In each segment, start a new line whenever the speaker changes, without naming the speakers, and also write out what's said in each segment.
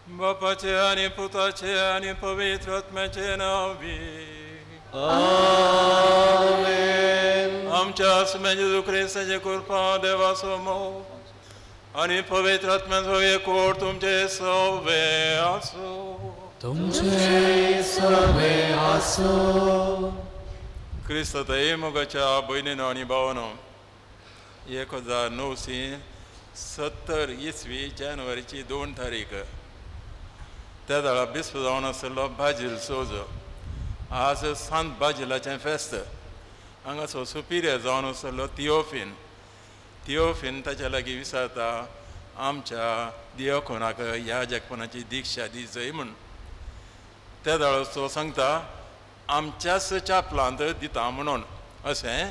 बापाचे आनी पुताचे आनी पवित्र आत्म्याचे नांव.
आमेन.
आमच्या आसम्या जेजू क्रिस्ताचे कृपा, देवाचो मोग आनी पवित्र आत्म्याचो एकवट तुमचे सवे आसूं.
तुमचे सवे आसूं.
क्रिस्ताच्या मोगाच्या भयणीनो आनी भावानो, 1970 इसवी जानेवारीची 2 तारीख त्या वेळा बिस्प जावन आशिल्लो बाजील सोजो. आज सांत बाजिलाचें फेस्त. हांगासो सुपिरियर जावन आशिल्लो थियोफीन. थियोफीन ताच्या लागीं विचारता, आमच्या दियोकोनाक ह्या जगपणाची दीक्षा दी जय म्हूण. त्या वेळार तो सांगता, आमच्याच चापलांत दिता म्हणून. अशें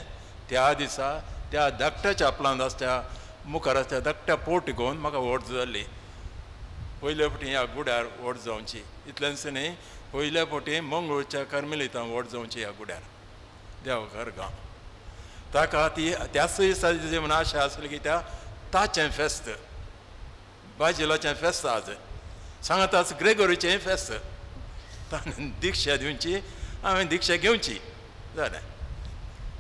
त्या दिसा त्या धाकट्या चापलांत आसच्या मुखार आसच्या धाकट्या पोट घेवन म्हाका व्हड जाली. पयले फावटी ह्या गुड्यार व्हड जावची इतलेंच न्ही, पयल्या फावटी मंगळूरच्या कार्मेलितां व्हड जावची ह्या गुड्यार देवघर गांव. ताका ती त्याच दिसा म्हूण आशा आसली की त्या ताचें फेस्त, बाजिलाचें फेस्त आज सांगाताच ग्रेगोरीचें फेस्त. ताणें दीक्षा दिवची, हांवें दीक्षा घेवची जालें.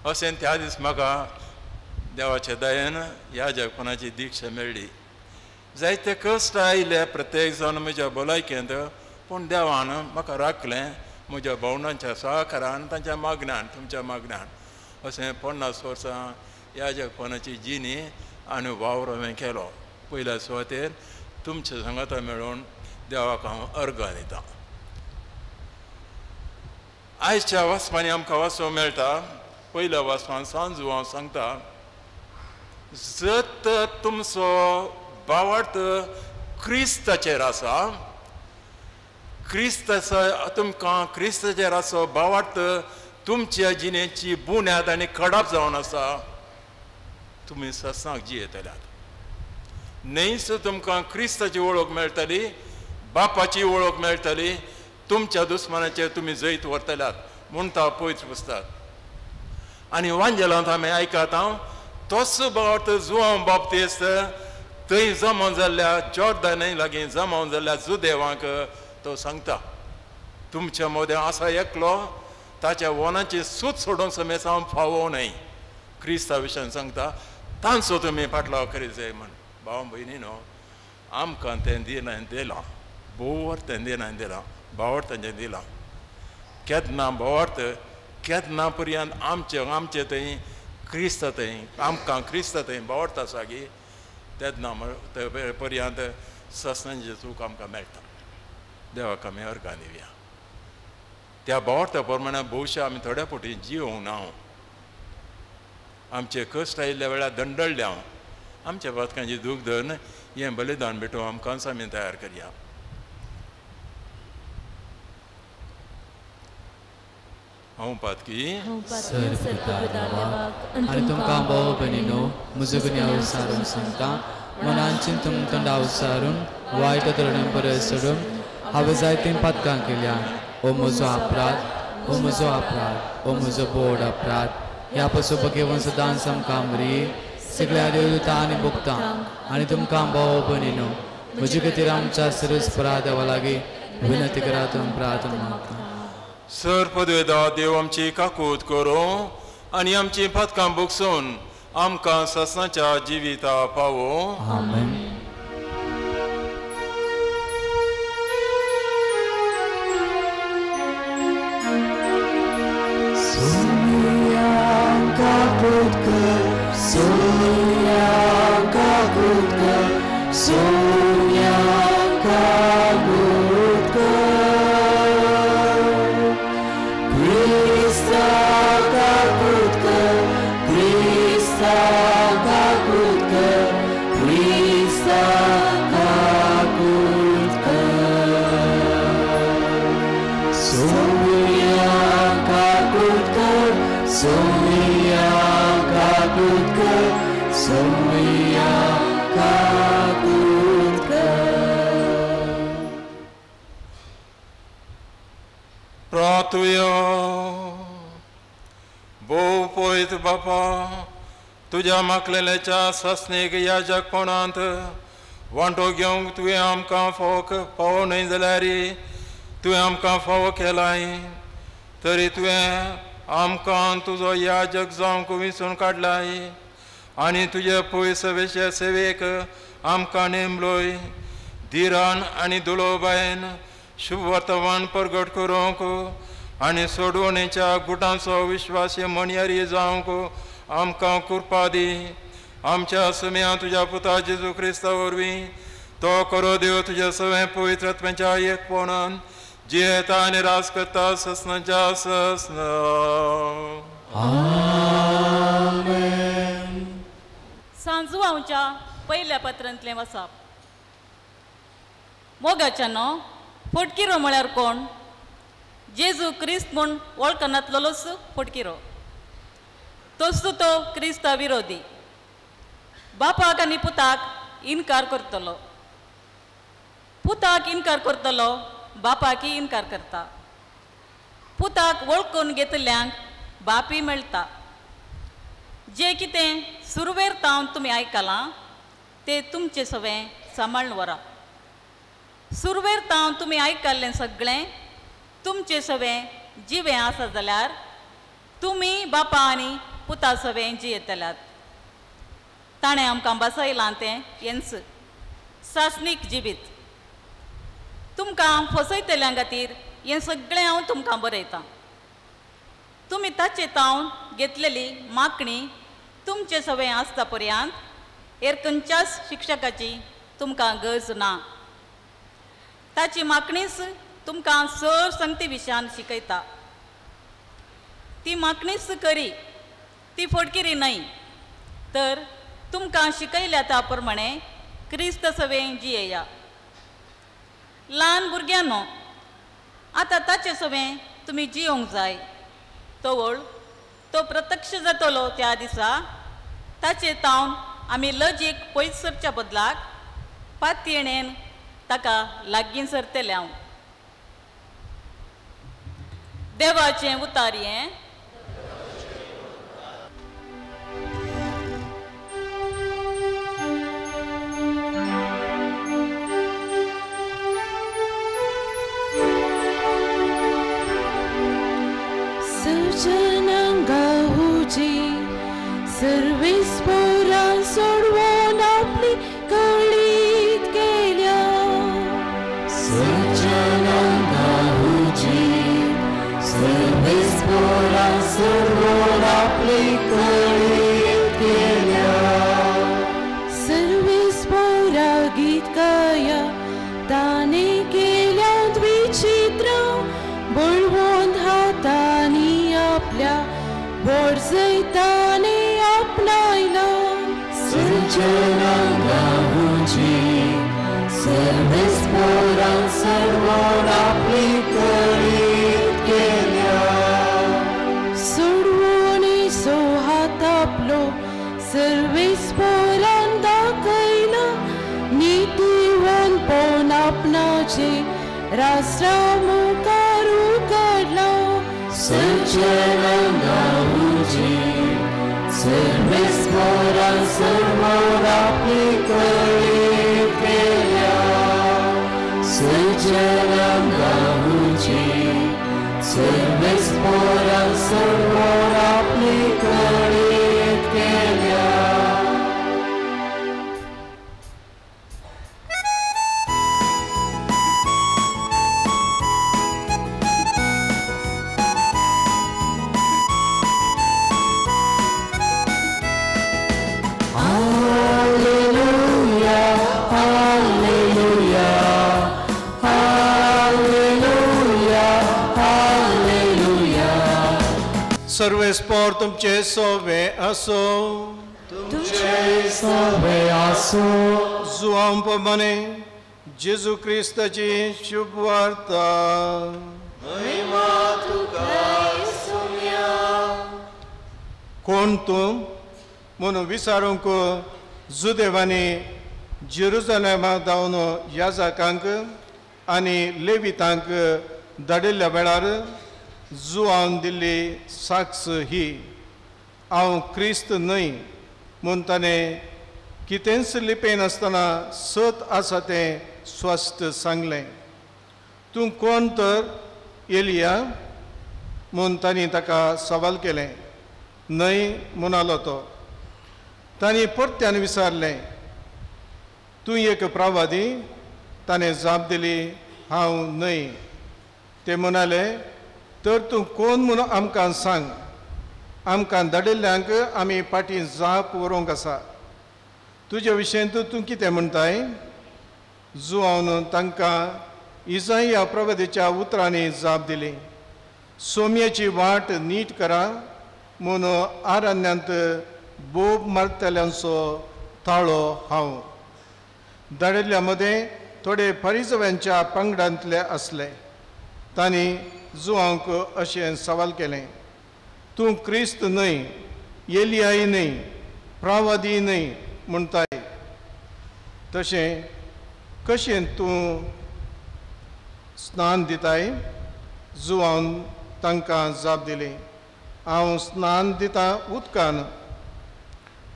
अशें त्या दीस म्हाका देवाच्या दयेन ह्या जगपणाची दीक्षा मेळ्ळी. जायते कश्ट आयले प्रत्येक जाण म्हज्या भलायकेंत, पूण देवान म्हाका राखलें म्हज्या भावंडांच्या सहकारान, तांच्या मागण्यान, तुमच्या मागण्यान. अशें 50 वर्सां ह्या जगपणाची जिणी आनी वावर हांवें केलो. पयल्या सुवातेर तुमच्या सांगाता मेळून देवाक हांव अर्गां दितां. आयच्या वाचपांनी आमकां वाचूंक मेळटा. पयल्या वाचपान सांजू हांव सांगता, जर तुमचो भावार्थ क्रिस्ताचेर आसा, क्रिस्ताचो तुमकां क्रिस्ताचेर आसा भावार्थ तुमच्या जिणेची बुन्याद आनी खडाप जावन आसा, तुमी सत्सांग जियेतल्यात. न्हयच तुमकां क्रिस्ताची वळख मेळटली, बापाची वळख मेळटली, तुमच्या दुस्मानाचेर तुमी जैत व्हरतल्यात म्हणटा पवित्र पुस्तक. आनी वांजेलांत आमी आयकता हांव तोच भावार्थ जुआंव बाप्तीस्त थंय जमा जाल्ल्या जॉर्दानाय लागीं जमा जाल्ल्या जुदेवांक तो सांगता, तुमच्या मदें आसा एकलो, ताच्या वनाची सूत सोडूंक समेत हांव फावो न्हय. क्रिस्ता विशयान सांगता, तांचो तुमी फाटलाव करीत जाय म्हण. भाव भयणी न्हू, आमकां तें दिलां दिलां, भोव तें दिलां दिलां, भावार्थ तांचें दिलां. केन्ना भावार्थ केन्ना पर्यंत आमचे आमचे थंय क्रिस्त थंय आमकां क्रिस्त थंय भावार्थ आसा की तेन्ना पर्यंत सस्नांचें चूक आमकां मेळटा. देवाक आमी अर्गां दिवया. त्या भावार्था प्रमाणे भोवशा आमी थोड्या फावटी जिवोवंक ना. आमचे कश्ट आयिल्ल्या वेळार दंडळ्ळे हांव, आमच्या पातकांची दूख धरून हें बलिदान भेटोवंक आमकांच आमी तयार करया. हांव पातकी
आनी तुमकां भाव भयणीनो म्हजो गुन्यांव विचारून सांगता, मनान चिंतून तोंडा उच्चारून वायट धोरणां परस सोडून हांवें जायतीं पातकां केल्या. ओ म्हजो अपराध, ओ म्हजो अपराध, ओ म्हजो बोड अपराध. ह्या पसून भगेवन सदांच आमकां मरी सगळ्या देवदूता आनी भोगता आनी तुमकां भाव भयणीनो म्हजे खातीर आमच्या सर्वेस्परा देवा लागीं विनंती करात प्रार्थना मागता.
सर पदवेदा देव आमची काकूत करूं आनी आमची पातकां भोगसून आमकां ससनाच्या जिविता पावो.
आमेन.
काकूत कर, सोनिया काकूत कर, सोनिया काकूत कर, क्रिस्ता काकूत कर, क्रिस्ता काकूत कर, क्रिस्ता काकूत कर, सोनिया काकूत कर, सोनिया काकूत कर, सोनिया काकूत कर.
प्रार्थुया. भोव पवित्र बापा, तुज्या मागलेल्याच्या सासणीक ह्या जगपणांत वांटो घेवंक तुवें आमकां फावो फावो न्हय जाल्यार तुवें आमकां फावो केलाय तरी तुवें आमकां तुजो याजक जावंक विंचून काडलाय आनी तुजे पयसवेचे सेवेक आमकां नेमलोय. धिरान आनी दुलोबायन शुभ वर्तमान परगट करूंक आनी सोडवणेच्या गुटांचो विश्वासी म्हणयारी जावंक आमकां कृपा दी. आमच्या सुम्या तुज्या पुता जेजू क्रिस्ता वरवीं तो करो देव तुज्या सगळें पवित्रत्वाच्या एकपणान जियेता आनी राज करता ससनाच्या ससना.
आमेन.
सांजुआंवच्या पयल्या पत्रांतलें वसाप. मोगाच्यानो, फटकिरो म्हळ्यार कोण? जेजू क्रिस्त म्हूण वळखनातलोच फटकिरो, तोच तो क्रिस्ता विरोधी. बापाक आनी पुताक इनकार करतलो, पुताक इनकार करतलो बापाकय इनकार करता. पुताक वळखून घेतल्यांक बापी मेळटा. जें कितें सुरवेर तावन तुमी आयकलां तें तुमचें सवें सांबाळून व्हरा. सुरवेर तावन तुमी आयकल्लें सगळें तुमचें सवें जिवें आसा जाल्यार तुमी बापा आनी पुता सवें जियेतल्यात. ताणें आमकां बसयलां तें हेंच सासणीक जिवीत. तुमकां फसयतल्यां खातीर हें सगळें हांव तुमकां बरयतां. तुमी ताचे तावन घेतलेली मागणी तुमचे सवें आसता पर्यंत हेर खंयच्याच शिक्षकाची तुमकां गरज ना. ताची मागणीच तुमकां चड संगती विशयान शिकयता. ती मागणीच करी, ती फटकिरी न्हय, तर तुमकां शिकयल्या त्या प्रमाणे क्रिस्त सवें जियेया. ल्हान भुरग्यांनो, आतां ताचे सवें तुमी जियोंक जाय. तवळ तो प्रत्यक्ष जातलो त्या दिसा ताचे तावन आमी लजीक पयस सरच्या बदलाक पातयेणेन ताका लागीं सरतले. हांव देवाचें उतार हें.
सर्वीस पोरां सोडवून आपली कळीत केल्या.
सज्जनांगा हुजी सर्वीस पोरां सोडवून आपली कळीत केल्या.
सर्वीस पोरा गीत गाया ताणे केल्या विचित्रां बळवंत हातांनी आपल्या बोरजैताने आपणायला.
सज्जनांगा हुजी सर्वीस पोरां सोडवून आपली कळीत केल्या.
सोडवून सो हात आपलो सर्वीस पोरां दाखयला. नीतिवंतपण आपणाचे राष्ट्रा मुखार उगडला.
सज्जनांगा हुजी सर्वीस पोरां सोडवून आपली कळीत केल्या. सज्जनांगा हुजी सर्वीस पोरां सोडवून आपली कळीत केल्या.
सर्वेस्पोर तुमचे सोवे आसो,
तुमचे सोवे आसो.
जुआंव प्रमाणे जेजू क्रिस्ताची शुभ वार्ता.
महिमा तुका सोम्या.
कोण तूं म्हणून विचारूंक जुदेवांनी जेरुजलेमा धांवन याजकांक आनी लेवितांक धाडिल्ल्या वेळार जुआन दिल्ली साक्ष ही, हांव क्रिस्त न्हय म्हूण ताणें कितेंच लिपयनासतना सत आसा तें स्वस्थ सांगलें. तूं कोण तर एलिया म्हूण तांणी ताका सवाल केलें. न्हय म्हणालो तो. तांणी परत्यान विचारलें, तूं एक प्रवादी? ताणें जाप दिली, हांव न्हय. ते म्हणाले, तर तूं कोण म्हूण आमकां सांग, आमकां धाडिल्ल्यांक आमी फाटीं जाप व्हरूंक आसा. तुजे विशयंत तूं कितें म्हणटाय? जुआवन तांकां इजाया प्रवादीच्या उतरांनी जाप दिली, सोम्याची वाट नीट करा म्हूण आरण्यांत बोब मारतल्यांचो ताळो हांव. धाडिल्ल्या मदें थोडे परिजव्यांच्या पंगडांतले आसले. तांणी जुआंक अशें सवाल केलें, तूं क्रिस्त न्हय, एलियाय न्हय, प्रवादी न्हय म्हणटाय, तशें कशें तूं स्नान दिताय? जुआन तांकां जाप दिली, हांव स्नान दितां उदकान,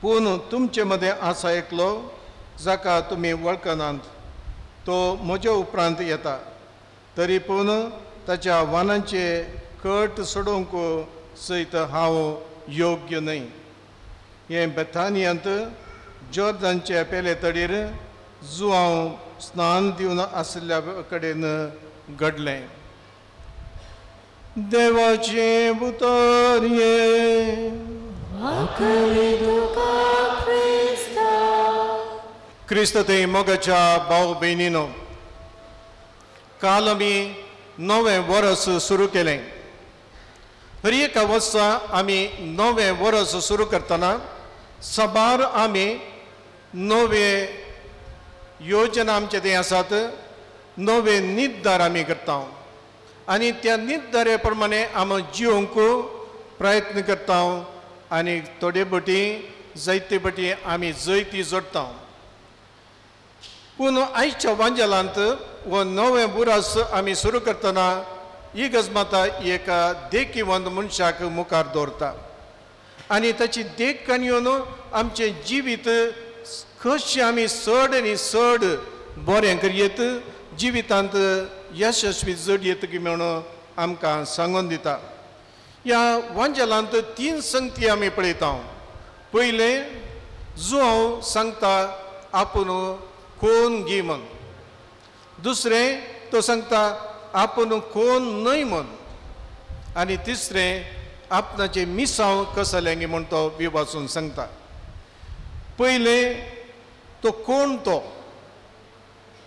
पूण तुमचे मदें आसा एकलो जाका तुमी वळखनात, तो म्हजे उपरांत येता, तरी पूण ताच्या वानांचे कट सोडोवंक सयत हांव योग्य न्हय. हें बेथानियांत जॉर्दानचे पेले तडीर जुआंव स्नान दिवन आशिल्ल्या कडेन घडलें. देवाचें उतर हें. क्रिस्त थंय मोगाच्या भाव भयणीनो, काल आमी नवें वर्स सुरू केलें. हर एका वर्सा आमी नवें वर्स सुरू करतना साबार आमी नवे योजना आमचे थंय आसात, नवे निर्धार आमी करता आनी त्या निर्धारे प्रमाणे आमी जिवंक प्रयत्न करता आनी थोडे बटी जायते बटी आमी जैती जोडटा. पूण आयच्या वांजेलांत हो नवें बुरास आमी सुरू करतना ही गजमाता एका देखीवंत मनशाक मुखार दवरता आनी ताची देख काणयेन आमचें जिवीत कशें आमी चड आनी चड बरें करयेत, जिवितांत यशस्वी जडयेत की म्हणून आमकां सांगून दिता. ह्या वांजेलांत तीन संगती आमी पळयता. पयलें, जुआंव सांगता आपूण कोण गी म्हण. दुसरें, तो सांगता आपूण कोण न्हय म्हण. आनी तिसरें, आपणाचें मिसांव कसलें गी म्हण तो विवाचून सांगता. पयलें, तो कोण तो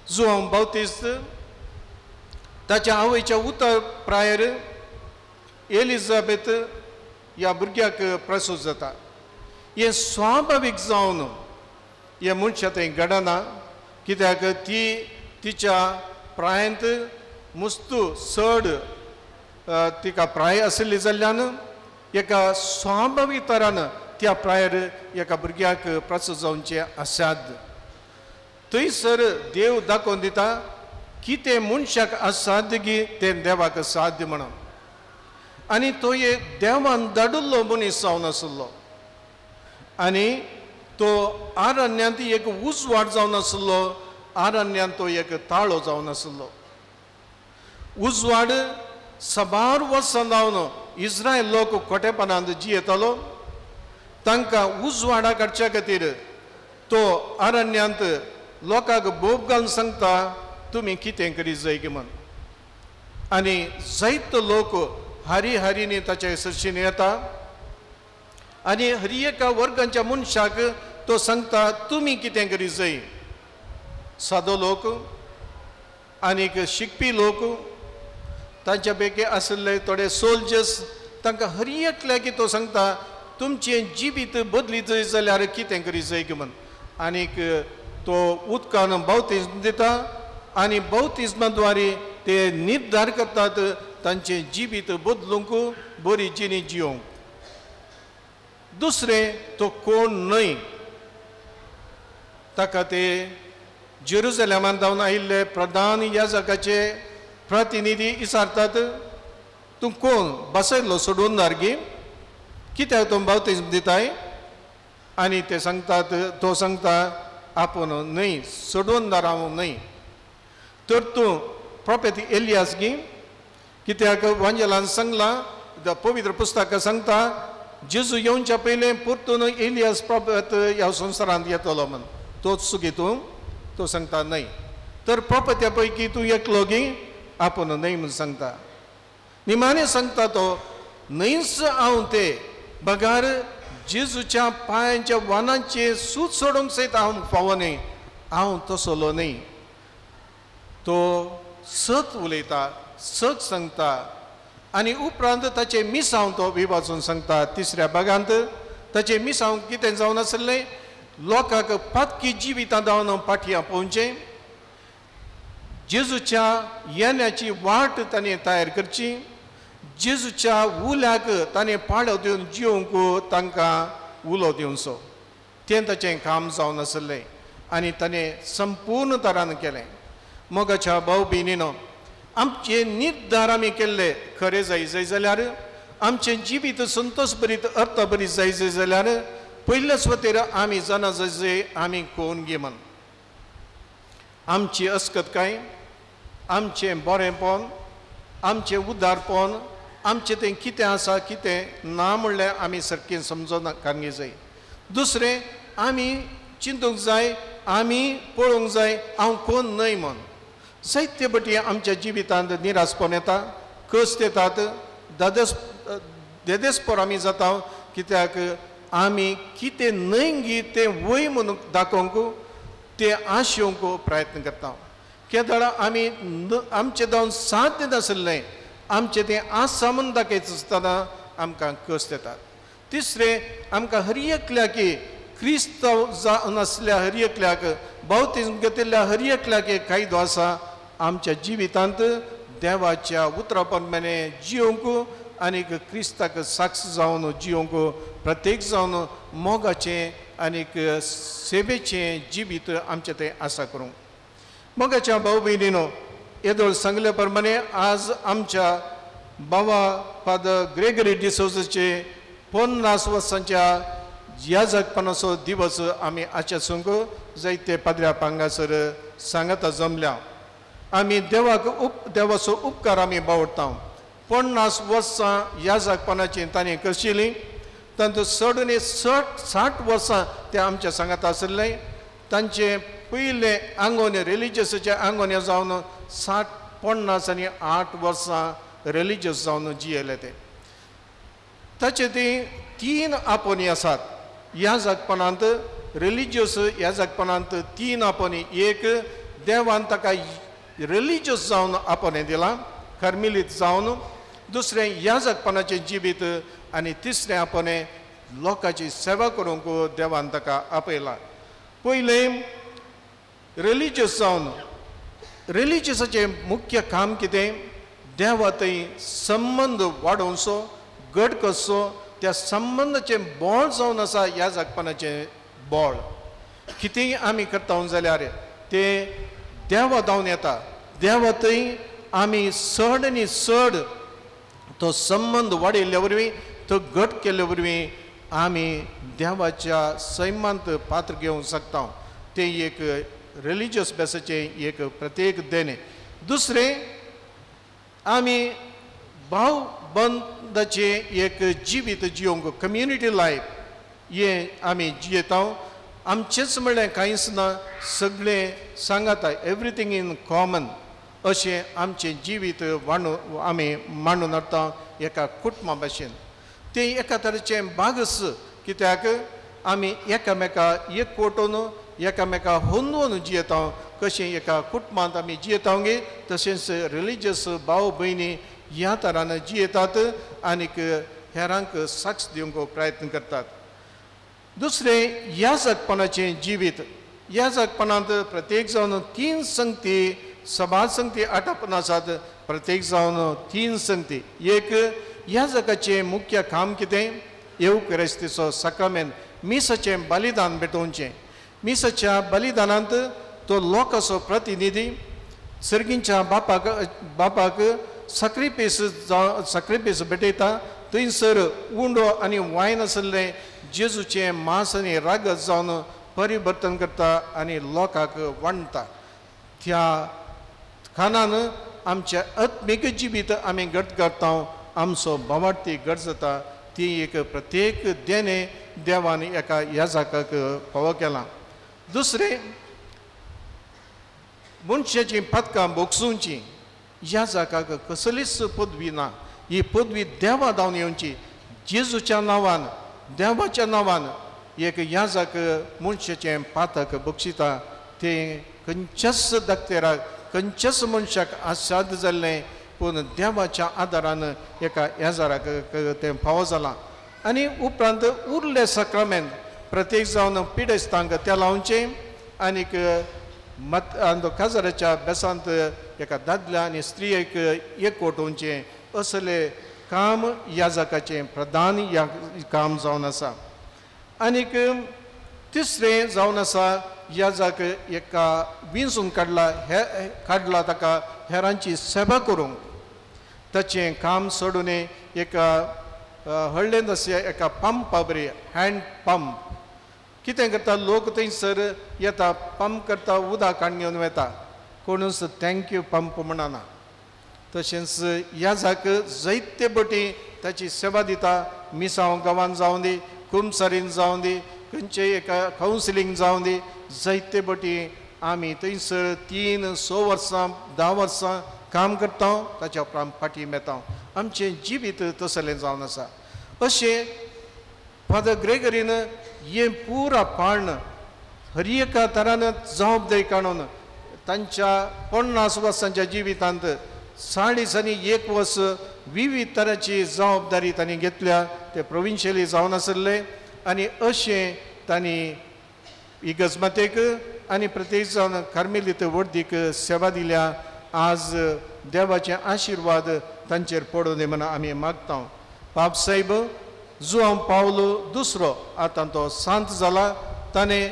जुआंव बाप्तिस्त ताच्या आवयच्या उतर प्रायर एलिझाबेथ ह्या भुरग्याक प्रसूत जाता. हें स्वाभावीक जावन हें मनशा थंय घडना, कित्याक ती तिच्या प्रायंत मुस्तू चड तिका प्राय आशिल्ली जाल्ल्यान एका स्वाभावीक तरान त्या प्रायर एका भुरग्याक प्रसूत जावचें असाध्य. थंयसर देव दाखोवन दिता कितें मनशाक असाध्य गी तें देवाक साध्य म्हणून. आनी तो एक देवान धाडिल्लो मनीस जावन आशिल्लो आनी तो आरण्यांत एक उजवाड जावन आशिल्लो, आरण्यांत तो एक ताळो जावन आशिल्लो. उजवाड साबार वर्सां जावन इस्रायल लोक कोटेपणांत जियेतालो, तांकां उजवाडा काडच्या खातीर तो आरण्यांत लोकांक बोब घालून सांगता तुमी कितें करीत जाय की म्हण. आनी जायतो लोक हारी हारीनी ताच्या सरशीन येता आनी हर एका वर्गाच्या मनशाक तो सांगता तुमी कितें करीत जाय. सादो लोक आनीक शिकपी लोक, तांच्या पैकी आशिल्ले थोडे सोल्जर्स, तांकां हर एकल्याक तो सांगता तुमचें जिवीत बदली जाय जाल्यार कितें करीत जाय की म्हण. आनीक तो उदकान बाप्तिज्म दिता आनी बाप्तिज्मा द्वारे ते निर्धार करतात तांचें जिवीत बदलूंक, बरी जिणी जियोंक. दुसरें, तो कोण न्हय, ताका ते जेरुजलेमान जावन आयिल्ले प्रधान याजकाचे प्रतिनिधी विचारतात, तूं कोण बसयल्लो सोडून दारगी, कित्याक तूं बाप्तिज्म दिताय? आनी ते सांगतात, तो सांगता आपूण न्हय सोडून हांव न्हय। तर तूं प्रोफेत एलियास गी, कित्याक वांजेलान सांगलां, पवित्र पुस्तकां सांगता जेजू येवच्या पयलें परतून एलियास प्रोफेत ह्या संवसारांत येतलो म्हण, तोच सुगी तूं? तो सांगता न्हय। तर प्रोफेत्या पैकी तूं एकलो गी? आपूण न्हय म्हूण सांगता। निमाणें सांगता तो न्हयच हांव ते, बगार जेजूच्या पांयांच्या वानांचें सूत सोडूंक सयत हांव फावो न्हय, हांव तसलो न्हय। तो सत उलयता, सत सांगता आनी उपरांत ताचें मिसांव तो विभाजून सांगता। तिसऱ्या भागांत ताचें मिसांव कितें जावन आसलें, लोकांक पातकी जिवितां जावन पाटयां पोवचें, जेजूच्या येण्याची वाट ताणें तयार करची, जेजूच्या उल्याक ताणें पाळो दिवन जिवंक तांकां उलो दिवचो, तें ताचें काम जावन आसलें आनी ताणें संपूर्ण तरान केलें। मोगाच्या भाव भयणीनो, आमचे निर्धार आमी केल्ले खरें जाय जाय जाल्यार, आमचें जिवीत संतोश भरीत अर्थ भरीत जाय जाय जाल्यार पयल्याच वतेर आमी जाणा जाय जाय आमी कोण गे म्हण। आमची अस्कत काय, आमचें बरेंपण, आमचें उदारपण, आमचें तें कितें आसा कितें ना म्हणल्यार आमी सारकें समजून काडूंक जाय। दुसरें आमी चिंतूंक जाय, आमी पळोवंक जाय हांव कोण न्हय म्हण। जायते पटी आमच्या जिवितांत निरासपण येता, कश्ट येतात, देदेसपोर आमी जाता, कित्याक आमी कितें न्हय गी तें वय म्हणून दाखोवंक, तें आशेवंक प्रयत्न करता। केदळा आमी आमचें जावन साध्य नासलें, आमचें तें आसा म्हूण दाखयता आसतना आमकां कश्ट येतात। तिसरें आमकां हर एकल्याक क्रिस्तांव जावन आसल्या हर एकल्याक, बावतीज्म घेतिल्ल्या हर एकल्याक एक कायदो आसा आमच्या जिवितांत देवाच्या उतरा प्रमाणे जिवंक आनीक क्रिस्ताक साक्ष जावन जिवंक, प्रत्येक जावन मोगाचें आनीक सेवेचें जिवीत आमचें तें आसा करूंक। मोगाच्या भाव भयणीनो, येदोळ सांगले प्रमाणे आज आमच्या बाबा फादर ग्रेगरी डिसोजाचे 50 वर्सांच्या याजकपणाचो दिवस आमी आजच्या संग जायते पाद्र्या पांगासर सांगाता जमल्या। आमी देवाक देवाचो उपकार आमी बावडटा। 50 वर्सां याजकपणाची ताणें करशिली, तांतूत चड आनी 60 वर्सां ते आमच्या सांगाता आशिल्ले। तांचे पयले आंगोने रिलिजियसाचे आंगोने जावन 60, 50 आनी 8 वर्सां रिलिजियस जावन जियेले ते। ताचे ती 3 आपोनी आसात ह्या जगपणांत, रिलिजियस ह्या जगपणांत 3 आपोनी। एक, देवान ताका रिलिजियस जावन आपोने दिलां, कर्मिलीत जावन। दुसरें, ह्या जगपणाचें जिवीत आनी तिसरें आपोने लोकांची सेवा करूंक देवान ताका आपयला। पयलें रिलिजियस जावन, रिलिजियसाचें मुख्य काम कितें, देवा थंय संबंद वाडोवचो, घट करचो, त्या संबंदाचें बळ जावन आसा ह्या जगपणाचें बळ। कितेंय आमी करता जाल्यार तें देवा धांवन येता, देवा थंय आमी चड आनी चड तो संबंद वाडयल्ल्या वरवीं, तो घट केल्ल्या वरवीं आमी देवाच्या सैमांत पात्र घेवंक शकता। तें एक रिलिजियस बेसाचें एक प्रत्येक देणें। दुसरें, आमी भाव बंदाचें एक जिवीत जिवंक, कम्युनिटी लायफ हें आमी जियेता। आमचेंच म्हणल्यार कांयच ना, सगळें सांगाता, एवरीथींग इन कॉमन अशें आमचें जिवीत वांडू आमी मांडून हाडटा एका कुटुंबा भाशेन। तें एका तरेचें बागस, कित्याक आमी एकामेका एकवटून एकामेका होंदून जियेता। कशें एका कुटुंबांत आमी जियेता गे, तशेंच रिलिजियस भाव भयणी ह्या तरान जियेतात आनीक हेरांक साक्ष दिवंक प्रयत्न करतात। दुसरें, ह्या जगपणाचें जिवीत, ह्या जगपणांत प्रत्येक जावन 3 संगती, सभा संगती आटापून आसात। प्रत्येक जावन 3 संगती। एक, ह्या जगाचें मुख्य काम कितें, येवक्रिस्तीचो साक्रामेंत, मिसाचें बलिदान भेटोवचें। मिसाच्या बलिदानांत तो लोकाचो प्रतिनिधी सर्गींच्या बापाक साक्रिफीस भेटयता। थंयसर उंडो आनी वायन आसलें जेजूचें मांस आनी रागत जावन परिवर्तन करता आनी लोकांक वांट्टा. त्या खाणान आमचें आत्मीक जिवीत आमी घट करता, आमचो भावार्थी घट जाता. ती एक प्रत्येक देणें देवान एका याजकाक फावो केलां. दुसरें, मनशाचीं पदकां भोगसुची याजकाक कसलीच पदवी ना. ही पदवी देवा धांवन येवची. जेजूच्या नांवान, देवाच्या नांवान एक याजक मनशाचें पातक बक्षिता. तें खंयच्याच दाक्तेराक, खंयच्याच मनशाक असाध्य जाल्लें, पूण देवाच्या आदारान एका याजराक तें फावो जालां. आनी उपरांत उरले साक्रामेंत प्रत्येक जावन पिडेस्तांक तें लावचें आनीक मत काजाराच्या बेसांत एका दादल्या आनी स्त्रियेक एकवट वचचें असलें काम याजकाचें प्रधान या काम जावन आसा. आनीक तिसरें जावन आसा, याजक एका विंचून काडला हे काडला ताका हेरांची सेवा करूंक. ताचें काम सोडून एका हळ्ळेंत आसा एका पंपा बरी हँड पंप कितें करता, लोक थंयसर येता, पंप करता, उदक काडून घेवन वता, कोणूच thank you pump म्हणना. तशेंच याजक जायते बटी ताची सेवा दिता. मिसांव गांवांत जावं दी, कुमसारीन जावं दी, खंयचेय एका कावन्सिलींग जावं दी, जायते बटी आमी थंयसर 3-6 वर्सां 10 वर्सां काम करता, ताच्या उपरांत फाटीं येता. आमचें जिवीत तसलें जावन आसा. अशें फादर ग्रेगरीन हें पुरा पाण हर एका तरान जबाबदारी काडून तांच्या 50 वर्सांच्या जिवितांत 40 आनी 1 वर्स विविध तरांची जबाबदारी तांणी घेतल्या. ते प्रोविन्शियली जावन आसले आनी अशें तांणी इगर्जमातेक आनी प्रत्येक जावन कार्मेलीत वर्दीक सेवा दिल्या. आज देवाचे आशिर्वाद तांचेर पडूं दी म्हूण आमी मागता. पाप साहेब जुआंव पावलो दुसरो आतां तो सांत जाला. ताणें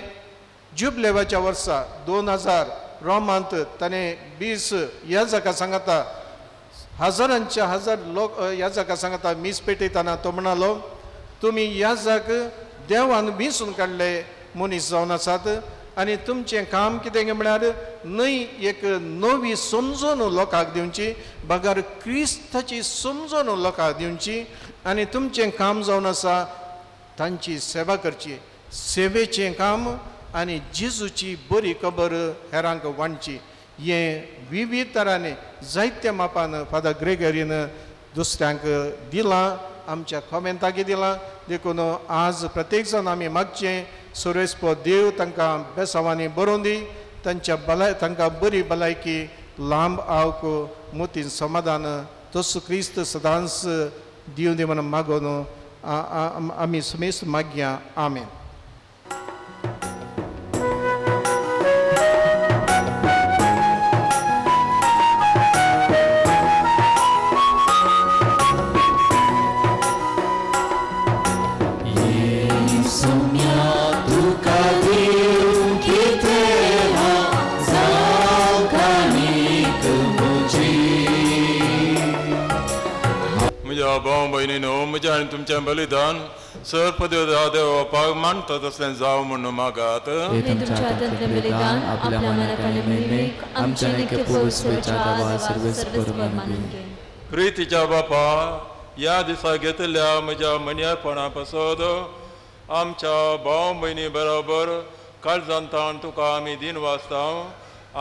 जुबलेवाच्या वर्सा 2000 रोमांत ताणें 20 याजका सांगता, हजारांच्या हजार लोक याजका सांगता मीस पेटयतना तो म्हणालो, तुमी याजक देवान विंचून काडले मनीस जावन आसात आनी तुमचें काम कितें म्हळ्यार न्हय एक नवी समजून लोकांक दिवची, बगर क्रिस्ताची समजून लोकांक दिवची आनी तुमचें काम जावन आसा तांची सेवा करची, सेवेचें काम आनी जेजूची बरी खबर हेरांक वांटची. हें विविध तरांनी जायत्या मापान फादर ग्रेगरीन दुसऱ्यांक दिलां, आमच्या कॉमेंताक दिलां. देखून आज प्रत्येक जाण आमी मागचें सुरेस्पो देव तांकां बेसांवांनी बरोवन दी, तांच्या भलाय तांकां बरी भलायकी, लांब आवक, मोतीन समाधान तसो क्रिस्त सदांच दिवं दी म्हूण मागून आमी समेस्त मागया. आमेन.
भाव भयणीनो, म्हजें आनी तुमचें बलिदान सर पदव्या देव मानता तसलें जावं म्हूण मागात. प्रितीच्या बापा, ह्या दिसा घेतल्या म्हज्या मनयापणा पासत आमच्या भाव भयणी बरोबर काळजान ताण तुका आमी दिन वाचता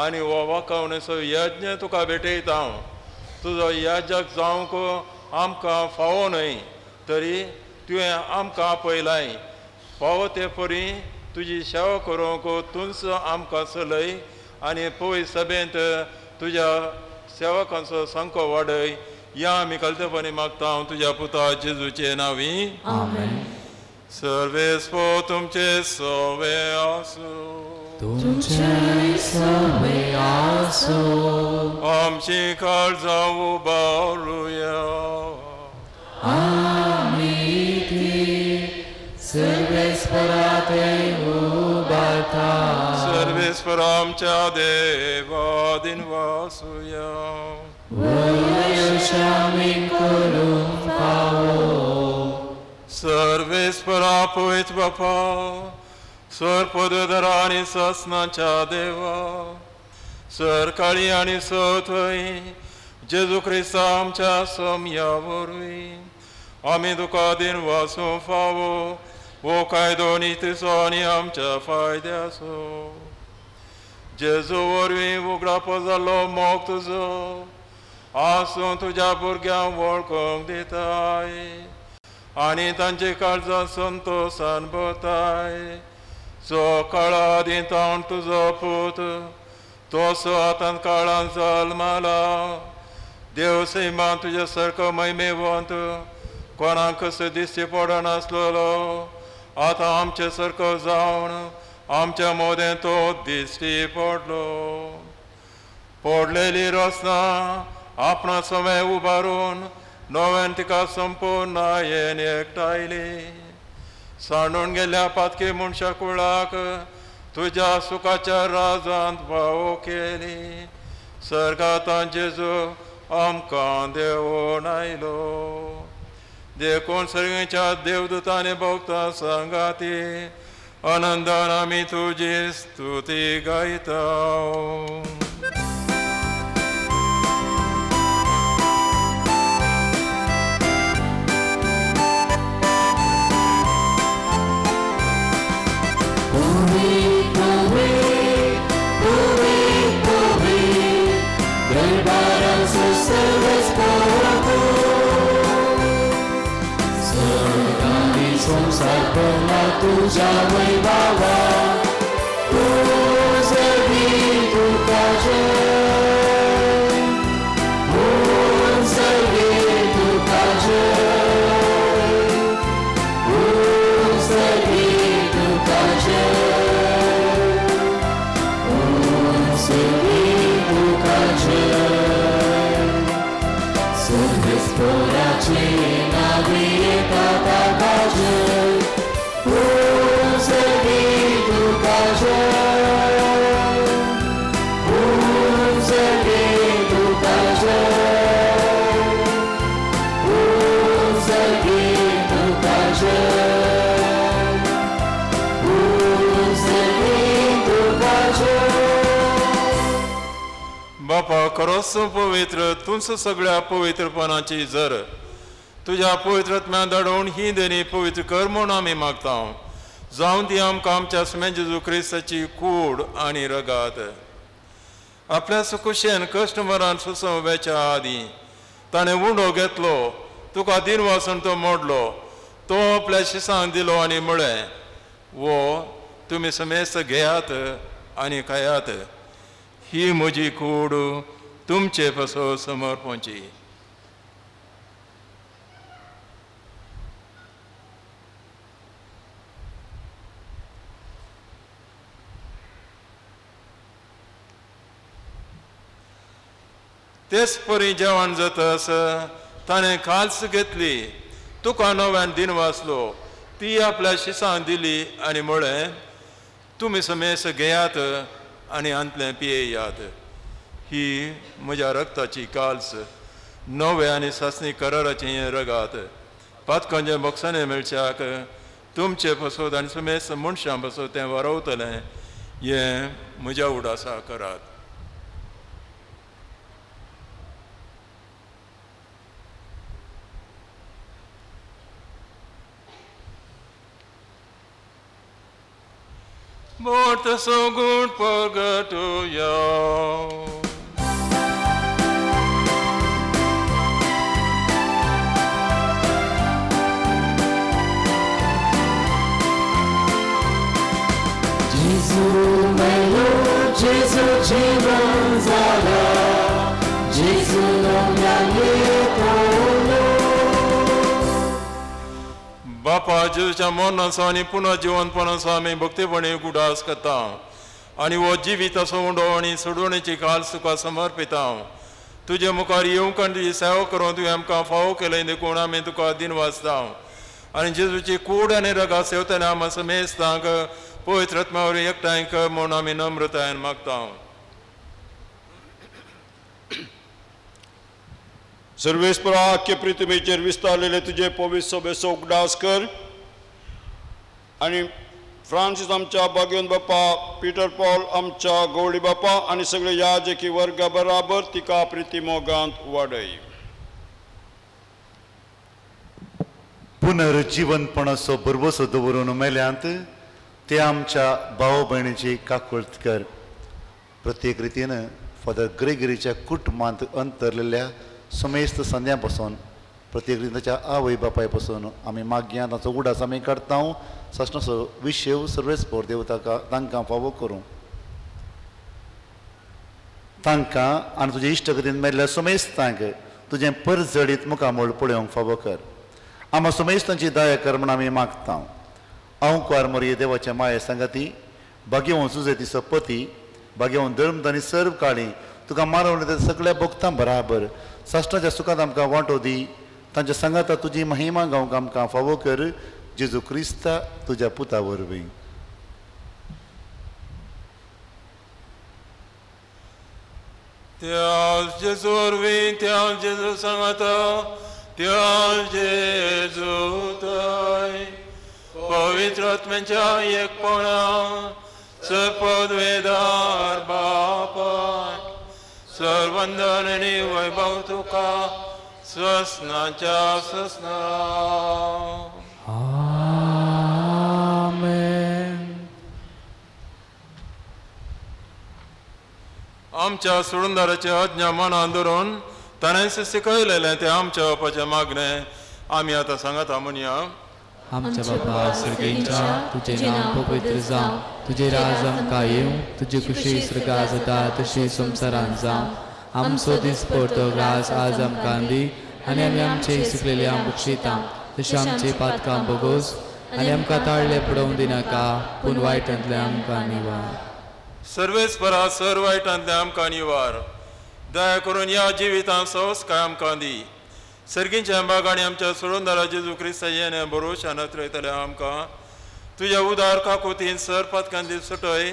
आनी हो वाकावणेचो यज्ञ तुका भेटयता. तुजो याजक जावंक आमकां फावो न्हय तरी तुवें आमकां आपयलाय. फावो ते परी तुजी सेवा करूंक तूंच आमकां चलय आनी पळय सभेंत तुज्या सेवकांचो संको वाडय. ह्या आमी कल्तपणी मागता तुज्या पुता जेजूचे नांवी. सर्वेस्पो तुमचे सवे आसूं.
तुमचे सवे आसूं.
आमची काळजां उबारुया.
आमी ती सर्वेस्पराते उबारता.
सर्वेस्पर आमच्या देवा दिनवासुया.
वयशामी करूंक फावो.
सर्वेस्परा पवित्र बापा, सर पदधरा आनी ससनाच्या देवा, सरकाळी आनी सथंय जेजू क्रिस्ता आमच्या सम्या वरवीं आमी तुका दिन वासूं फावो वो कायदो नितीचो आनी आमच्या फायद्याचो. जेजू वरवीं उगडापो जाल्लो मोग तुजो आसूं तुज्या भुरग्यांक वळखूंक दिताय आनी तांचे काळजां संतोसान भरताय. जो काळा आदीं तावन तुजो पूत तसो आतां काळान जल्मला. देव सैमान तुज्या सारको महिमेवंत कोणाक कसो दिश्टी पडनासलेलो आतां आमचे सारको जावन आमच्या मोदें तो दिश्टी पडलो. पडलेली रचना आपणा समय उबारून नव्यान तिका संपूर्णायेन एकठायली. सांडून गेल्ल्या पातकी मनशा कुळाक तुज्या सुखाच्या राजांत भाव केली. सर्गांत जेजू आमकां देवून आयलो. देखून सर्गेच्या देवदूतांनी भोगता सांगाती आनंदान आमी तुजी स्तुती गायता.
तुझ्या वैभवा उजवी तुका जय, उजवी तुका जय, उजवी तुका जय, उजवी तुका जय. सर्वेस्पराचे नावे येता ताका जय, उजवी तुका जय, उजवी तुका जय, उजवी तुका जय, उजवी तुका जय.
बापा खरोच पवित्र तुमच सगळ्या पवित्रपणाची जर तुज्या पवित्रत्म्यान धाडून ही देणी पवित्र कर म्हूण आमी मागता. जावन ती आमकां आमच्या सुमे जेजू क्रिस्ताची कूड आनी रगात. आपल्या सुकुशेन कश्ट मरान सुसंव्याच्या आदीं ताणें उंडो घेतलो, तुका दिन वासून तो मोडलो, तो आपल्या शिसांक दिलो आनी म्हळें, वो तुमी समेस्त घेयात आनी खायात, ही म्हजी कूड तुमचे पासो समर्पणची. तेच परी जेवण जातस ताणें खाल्स घेतली, तुका नव्यान दिन वाचलो, ती आपल्या शिसांक दिली आनी म्हळें, तुमी समेस्त घेयात आनी हांतलें पियेयात, ही म्हज्या रक्ताची काल्स, नवे आनी सासणी कराराचें हें रगात. पातकांच्या बक्षांनी मेळच्याक तुमचे पसत आनी समेस्त मनशां पसत तें वारवतलें, हें म्हज्या उडासा करात. Morte सगुण प्रगटुया.
जेजू मेलो, जेजू जीवन जाला, जेजू नव्याने तोलो.
बापा जेजूच्या मरणाचो आनी पुनः जिवनपणाचो आमी भक्तीपणी उगडास करता आनी हो जिवीत असो उंडो आनी सोडवणेची काल तुका समर्पिता. तुजे मुखार येवंक आनी तुजी सेवा करून तुवें आमकां फावो केलें देखून आमी तुका दिन वाचता आनी जेजूची कूड आनी रगा सेवतना आमी समेस्तांक पवित्र आत्म्या वरवीं एकठांय कर म्हूण आमी नम्रतायेन मागता.
सर्वेस्परा आख्खे पृथ्वीचेर विस्तारलेले तुजे पवित्र सभेचो उगडास कर आनी फ्रांसीस आमच्या भाग्यवंत बापा, पिटर पॉल आमच्या गवळी बापा आनी सगळे याजकी वर्गा बराबर तिका प्रिती मोगांत वाडय.
पुनर्जीवनपणाचो भरवसो दवरून मेल्यांत ते आमच्या भाव भयणीची काकुळट कर. प्रत्येक रितीन फादर ग्रेगरीच्या कुटुंबांत अंतरलेल्या समेस्त संद्या पासून प्रत्येक रितीन ताच्या आवय बापाय पासून आमी मागया ताचो उडास आमी काडटा. सासणाचो विशेव सर्वेस्पोर देव ताका तांकां फावो करूं. तांकां आनी तुजे इश्टगतीन मेल्ल्या समेस्तांक तुजें परजळीत मुखामळ पळोवंक फावो कर. आमा समेस्तांची दया कर म्हण आमी मागता. हांव कुवार मोरये देवाच्या माये सांगाती भाग्यवंत सुजेतीचो पती भाग्यवंत धर्म आनी सर्व काळी तुका मारवले त्या सगळ्या भक्तां बराबर साश्टाच्या सुखांत आमकां वांटो दी. तांच्या सांगाता तुजी महिमा गावंक आमकां फावो कर. जेजू क्रिस्ता तुज्या पुता वरवीं.
त्या जेजू वरवीं, त्या जेजू सांगाता, त्या जेजू थंय पवित्र आत्म्याच्या एकपणा सपदवेदार बापाय सर्वंदन आनी वैभव तुका ससनाच्या ससना.
आमेन.
आमच्या सोडूनदाराचे आज्ञा मनान धरून ताणें शिकयलेलें तें आमच्या बापाचें मागणें आमी आतां सांगाता म्हणया.
आमच्या बापा सर्गेंच्या, तुजें नांव पवित्र जावं, तुजें राज आमकां येवं, तुजी खुशी स्वर्गांत जाता तशी संवसारांत जावं. आमचो दीस पडतो ग्रास आज आमकां दी आनी आमी आमचे चुकलेले बक्षिता तशें आमचे पातकां बोगोस आनी आमकां ताळले पडोवंक दिनाका, पूण वायटांतले आमकां निवार.
सर्वेस्परा सर वायटांतले आमकां निवार. दया करून ह्या जिवितांत संस्कार आमकां दी. सर्गींच्या बाग आनी आमच्या सोडूनदारा जेजू क्रिस्ता येणे भरोशान अत्रयतले आमकां तुज्या उदार काकुतीन सर पातकांतली सुटय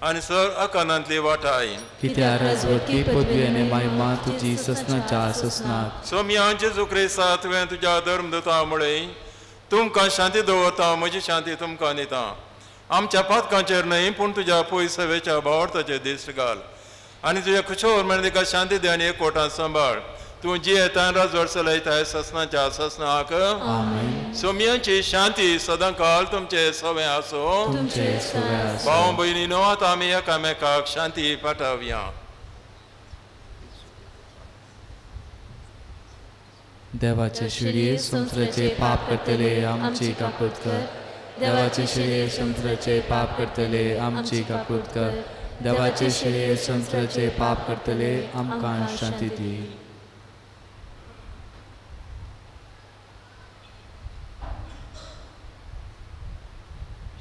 आनी सर अकानांतली वाटाय.
कित्याक राजवटी पदवी आनी महिमा तुजी ससनाच्या ससनाक.
सोमया जेजू क्रिस्ता तुवें तुज्या धर्मदूता मुळे तुमकां शांती दवरता, म्हजी शांती तुमकां दिता. आमच्या पातकांचेर न्हय पूण तुज्या पयसवेच्या भावार्थाचेर दिश्ट घाल आनी तुज्या खुशोवर म्हणून तिका शांती दी आनी एकवटान सांबाळ. तूं जियेता राजवट चलयताय ससनाच्या ससनाक. सोमयांची शांती सदांकाल तुमचे सवे आसो. भाव भयणीनो आतां आमी एकामेकाक शांती पाठोवया.
देवाचे शिडये संवसाराचे पाप करतले आमची काकूत कर. देवाचे शिडये संवसाराचे पाप करतले आमची काकूत कर. देवाचे शिडये संवसाराचे पाप करतले आमकां शांती दी.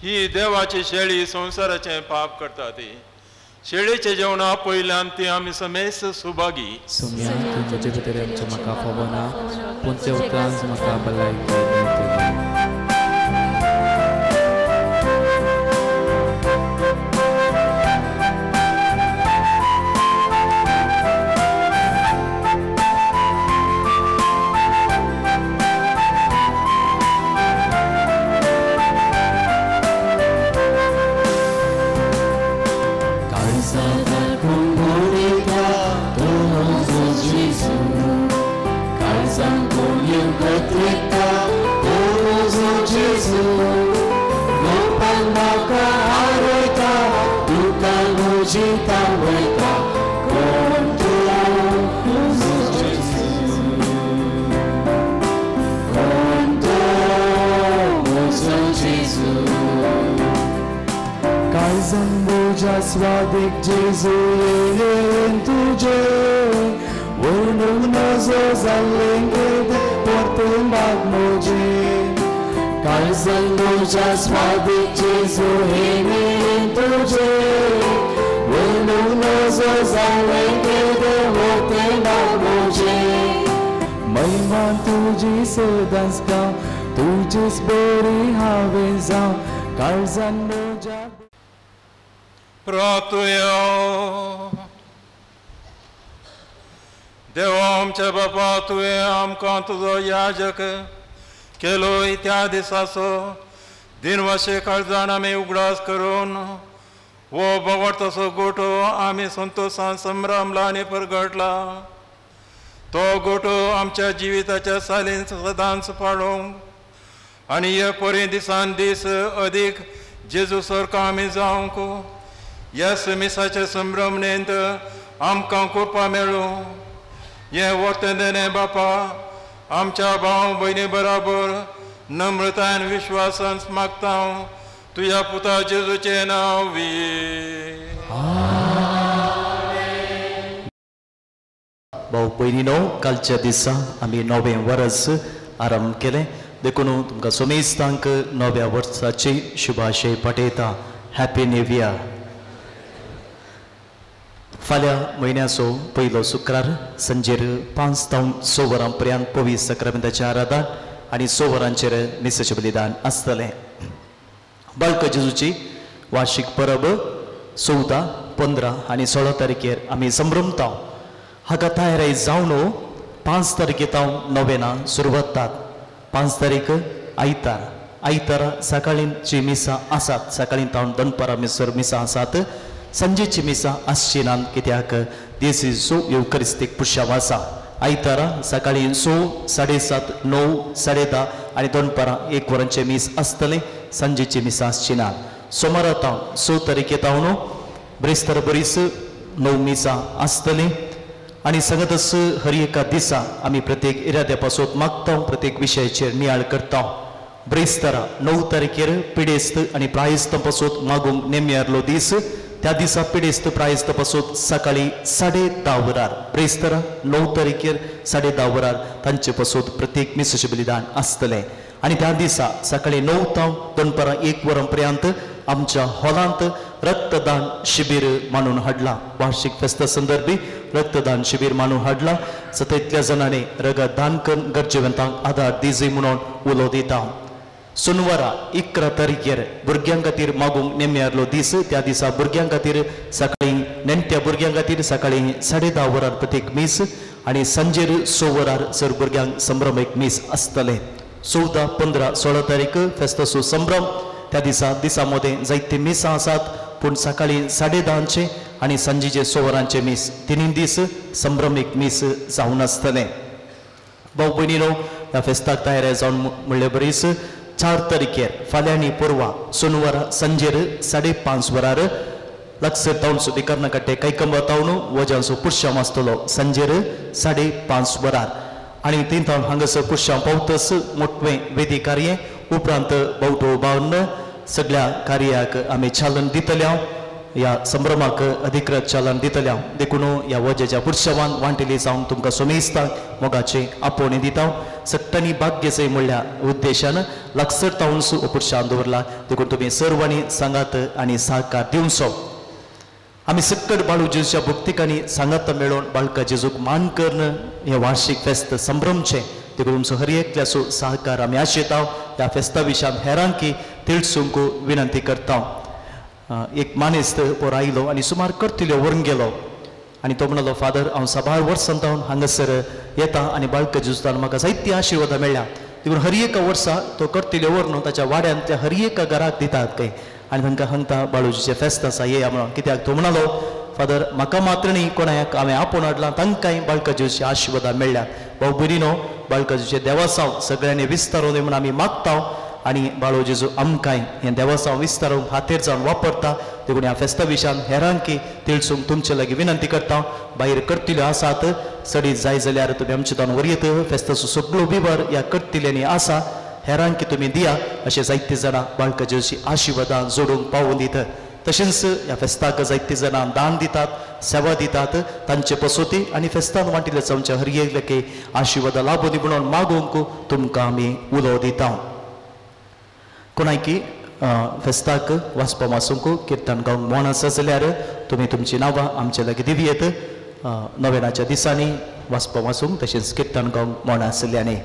ही देवाची शेळी संवसाराचें पाप करता ती शेळीचें जेवणा पयल्यान ती आमी समेस्त सुभागी.
सोम्या तूं म्हजे भितर आमच्या म्हाका फावना, पूण ते उपरांत म्हाका भलायकी मेळटली.
स्वादिक जेजू येयलें तुजें वर्णूंक नजो जाल्लें कितें परतें बाग म्हजें. काळजान म्हज्या स्वादिक जेजू येयलें तुजें वर्णूंक नजो जाल्लें कितें परतें बाग म्हजें. महिमा तुजी सदांच गाव, तुजीच बरी हांवें जावं काळजान म्हज्या.
प्रार्थुया. देवा आमच्या बापा, तुवें आमकां तुजो याजक केलो त्या दिसाचो दिनवाशे काळजान आमी उगडास करून हो बोवाटतसो गोठो आमी संतोशान संभ्रमला आनी परगटला. तो गोठो आमच्या जिविताच्या सालीन सदांच पाडोवंक आनी हे परी दिसान दीस अदीक जेजू सारको आमी जावंक ह्या समिसाच्या संभ्रमणेंत आमकां कृपा मेळूं. हें वतें देणें बापा आमच्या भाव भयणी बराबर नम्रतायन विश्वासान मागता तुज्या पुता जेजूचें नांव.
भाव भयणीनो, कालच्या दिसा आमी नवें वर्स आरंभ केलें देखून तुमकां सोमेस्तांक नव्या वर्साची शुभाशय पाठयता. Happy new year. फाल्यां म्हयन्याचो पयलो शुक्रार सांजेर 5 तावन 6 वरां पर्यंत पवित्र साक्रामेंताचें आराधन आनी 6 वरांचेर मिसाचें बलिदान आसतलें. बाळक जेजूची वार्षिक परब 14, 15 आनी 16 तारखेर आमी संभ्रमता. हाका तयारी जावन 5 तारखे तावन नोवेना सुरवात. 5 तारीख आयतार, आयतारा सकाळींची मिसां आसात. सकाळीं तावन दनपारां मिसर मिसां आसात. सांजेची मिसां आसची ना कित्याक देसीचो येवकरिस्तीक पुरशांव आसा. आयतारा सकाळीं 6, 7:30, 9, 10:30 आनी दनपारां 1 वरांचें मीस आसतलें. सांजेची मिसां आसची ना. सोमारा तावन 6 तारखे तावन ब्रेस्तार बरीच 9 मिसां आसतलीं. आनी सांगतच हर एका दिसा आमी प्रत्येक इराद्या पासत मागता, प्रत्येक विशयाचेर नियाळ करता. ब्रेस्तारा 9 तारखेर पिडेस्त आनी प्रायस्त पासत मागूंक नेमयारलो दीस. त्या दिसा पिडेस्त प्रायस्त पासत सकाळीं 10:30 वरार ब्रेस्तारा 9 तारखेर 10:30 वरार तांचे पासत प्रत्येक मिसाचें बलिदान आसतलें. आनी त्या दिसा सकाळीं 9 तावन दनपारां 1 वरां पर्यंत आमच्या हॉलांत रक्तदान शिबीर मानून हाडलां. वार्षिक फेस्ता संदर्भी रक्तदान शिबीर मानून हाडलां. सततल्या जाणांनी रगत दान करून गरजेवंतांक आदार दिजय म्हणून उलो दिता. सोनवारा 11 तारखेर भुरग्यां खातीर मागूंक नेमयारलो दीस. त्या दिसा भुरग्यां खातीर सकाळीं नेण्ट्या भुरग्यां खातीर सकाळीं 10:30 वरार प्रत्येक मीस आनी सांजेर 6 वरार सर भुरग्यांक संभ्रम एक मीस आसतलें. 14, 15, 16 तारीख फेस्ताचो संभ्रम. त्या दिसा दिसा मदें जायते मिसां आसात पूण सकाळीं 10:30 आनी सांजेचे 6 वरांचे मीस, 3 दीस संभ्रमीक मीस जावन आसतलें. भाव भयणीनो, ह्या फेस्ताक तयार जावन म्हणले बरीच 4 तारखेर फाल्यां आनी परवां सोनवारा सांजेर 5:30 वरार लागसर तावनसो बिकर्नाकाटे कैकंबा तावन वजांचो पुरशांव आसतलो सांजेर 5:30 वरार. आनी थंय तावन हांगासर पुरशांव पावतच मोटवें वेदी कार्य उपरांत बावटो बावन सगळ्या कार्याक आमी चालन दितल्या, ह्या संभ्रमाक अधिकृत चालन दितल्या. देखून ह्या वजेच्या पुरशावान वांटेली जावन तुमकां सोमेस्तांक मोगाचें आपोवणें दिता. सगळ्यांनी भाग्यचें म्हणल्या उद्देशान लागसर तावनसो पुरशान दवरला. देखून तुमी सर्वांनी सांगात आनी सहकार दिवचो. आमी सक्कड बाळू जेजूच्या भक्तिकांनी सांगात मेळोवन बाळका जेजूक मान करून हें वार्षिक फेस्त संभ्रमचें. देखून तुमचो हर एकल्याचो सहकार आमी आशेता. ह्या फेस्ता विशयान हेरांकी तिळसूंक विनंती करता. एक मानेस्त पोर आयलो आनी सुमार करतिल्यो व्हरून गेलो आनी तो म्हणलो, फादर हांव साबार वर्सां तावन हांगासर येता आनी बाळका जेजूतान म्हाका जायती आशिर्वादां मेळ्ळ्या. देखून हर एका वर्सा तो करतिल्यो व्हरून ताच्या वाड्यांतल्या हर एका घराक दितात खंय आनी तांकां सांगता बाळूजीचें फेस्त आसा येया म्हणून. कित्याक तो म्हणालो, फादर म्हाका मात्र न्ही कोणाक हांवें आपोवन हाडलां तांकांय बाळका जेजूची आशिर्वादां मेळ्ळ्यात. भाव भयणीनो, बाळका जेजूचें देवासांव सगळ्यांनी विस्तारून म्हूण आमी मागता आनी बाळू जेजू आमकांय हें देवासांव विस्तारून हातेर जावन वापरता. देखून ह्या फेस्ता विशयान हेरांकी तिळसूंक तुमचे लागीं विनंती करता. भायर करतिल्यो आसात चडीत जाय जाल्यार तुमी आमचे तावन व्हरयत. फेस्ताचो सगळो विवर ह्या करतिल्यांनी आसा, हेरांकी तुमी दिया. अशें जायते जाणां बाळका जेजूची आशिर्वादां जोडूंक पावून दित. तशेंच ह्या फेस्ताक जायते जाणां दान दितात, सेवा दितात. तांचे पसोती आनी फेस्तान वांटिल्ले जावच्या हर एकल्याक आशिर्वादां लाबूं दी म्हणून मागूंक तुमकां आमी उलो दिता. कोणायकी फेस्ताक वाचपा वासूंक किर्तन गावंक मोन आसा जाल्यार तुमी तुमचीं नांवां आमचे लागीं दिवयेत. नोवेनाच्या दिसांनी वाचपा वासूंक तशेंच किर्तन गावंक मोन आशिल्ल्यांनी.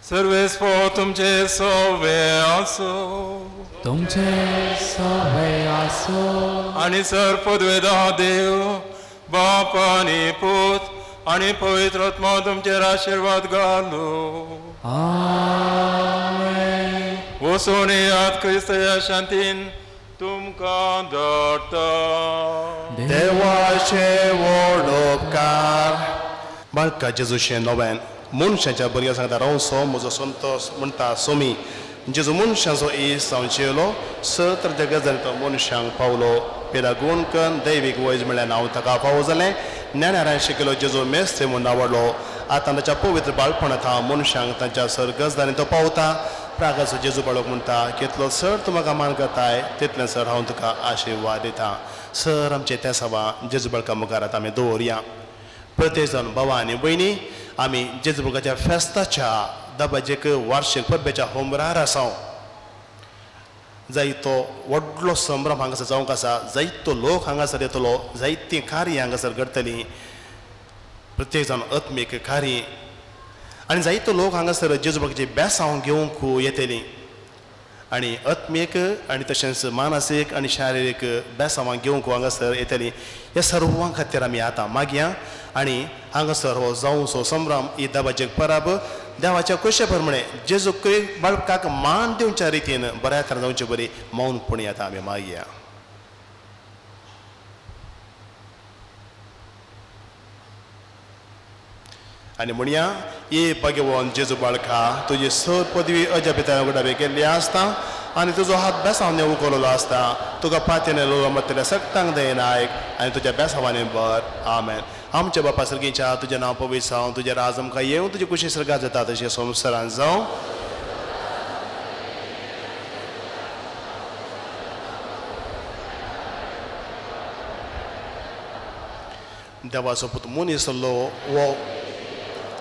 सर्वेस्पो तुमचे सोवे आसो,
तुमचे सोवे आसो.
आनी सर पदवेदा देव बाप आनी पूत आनी पवित्र आत्मा तुमचेर आशिर्वाद घालू. वचून येयात, क्रिस्त ह्या शांतीन तुमकां धाडटा.
देवाचे व्हड उपकार. बाळका जेजूचें नवें मनशाच्या भुरग्यां सांगता रावसो म्हजो संतोस म्हणटा सोमी. जेजू मनशाचो इस जावन जेवलो स तर जगत तो मनशांक पावलो. पेरा गुण कन दैवीक वैज म्हळ्यार नांव ताका फावो जालें. ज्ञानारान शिकयलो जेजू मेस्त्री म्हूण आवडलो. आतां ताच्या पवित्र बाळपणांत हांव मनशांक तांच्या सर्गसदानी तो पावता. प्रागाचो जेजू बाळक म्हणटा कितलो सर तूं म्हाका मान करताय तितलें सर हांव तुका आशिर्वाद दिता. सर आमचे त्या सभा जेजू बाळका मुखार आतां आमी दवरया. प्रत्येक जाण बाबा आनी भयणी आमी जेजू बाळकाच्या फेस्ताच्या दबाजेक वार्षिक परबेच्या होमरार आसा. जायतो व्हडलो संभ्रम हांगासर जावंक आसा, जायतो लोक हांगासर येतलो, जायतीं कार्यां हांगासर घडटलीं. प्रत्येक जाण आत्मीक कार्य आनी जायतो लोक हांगासर जेजू बाळकाची बेसांव घेवंक येतलीं आनी आत्मीक आनी तशेंच मानसीक आनी शारिरीक बेसांवां घेवंक हांगासर येतलीं. ह्या सर्वां खातीर आमी आतां मागया आनी हांगासर हो जावचो संभ्रम ही दबाजेक परब देवाच्या कुशे प्रमाणे जेजू क्रिस्त बाळकाक मान दिवच्या रितीन बऱ्या तरेन जावचे बरी मौनपणी आतां आमी मागया. आनी म्हणया ये भगवान जेजू बाळका तुजी सर पदवी अजापिता उडाबे केल्ली आसता आनी तुजो हात बेसांवांनी उखललो आसता. तुका पातयेन लोलो मत्तल्या सक्तांक दयेन आयक आनी तुज्या बेसांवांनी बर. आमेन. आमच्या बापा सर्गीच्या तुजें नांव पवित्र जावं, तुजें राज आमकां येवं, तुजी कुशी सर्गात जाता तशें संवसारांत जावं. देवाचो पूत मनीस जालो हो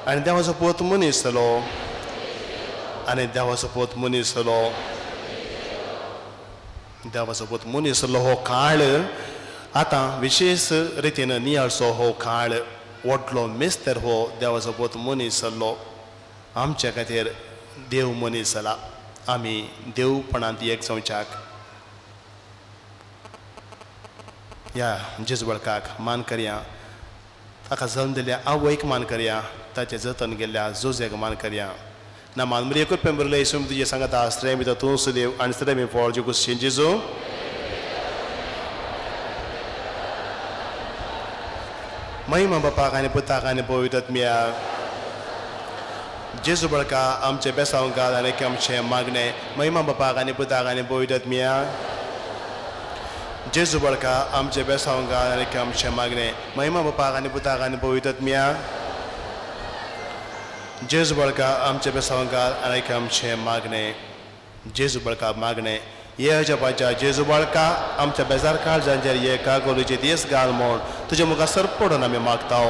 आनी देवाचो पूत मनीस जालो आनी देवाचो पूत मनीस जालो देवाचो पूत मनीस जालो हो काळ आतां विशेश रितीन नियाळचो. हो काळ व्हडलो मेस्तर हो देवाचो पूत मनीस जाल्लो. आमच्या खातीर देव मनीस जाला. आमी देवपणांत एक जावच्याक ह्या जेजू बाळकाक मान करया, ताका जल्म दिल्ल्या आवयक मान करया, ताचें जतन केल्ल्या जोज्याक मान करया. ना मान मरिये कृपेन भरिल्ले येशू तुजें सांगता स्त्रियां भितर तूं सुदेव आनी स्त्रियां फळ जेजू जेजू. महिमा बापाक आनी पुताक आनी पवित्र आत्म्याक. जेजू बाळका आमचें बेसांव घाल आनी आमचें मागणें. महिमा बापाक आनी पुताक आनी पवित्र आत्म्याक. जेजू बाळका आमचें बेसांव घाल आनी आमचें मागणें. महिमा बापाक आनी पुताक आनी पवित्र आत्म्याक. जेजू बाळका आमचें बेसांव घाल आनी आमचें मागणें. जेजू बाळका मागणें. ये अजापाच्या जेजू बाळका आमच्या बेजार काळजांचेर ये कागोलीचे दीस घाल म्हूण तुजे मुखार सर पडून आमी मागता.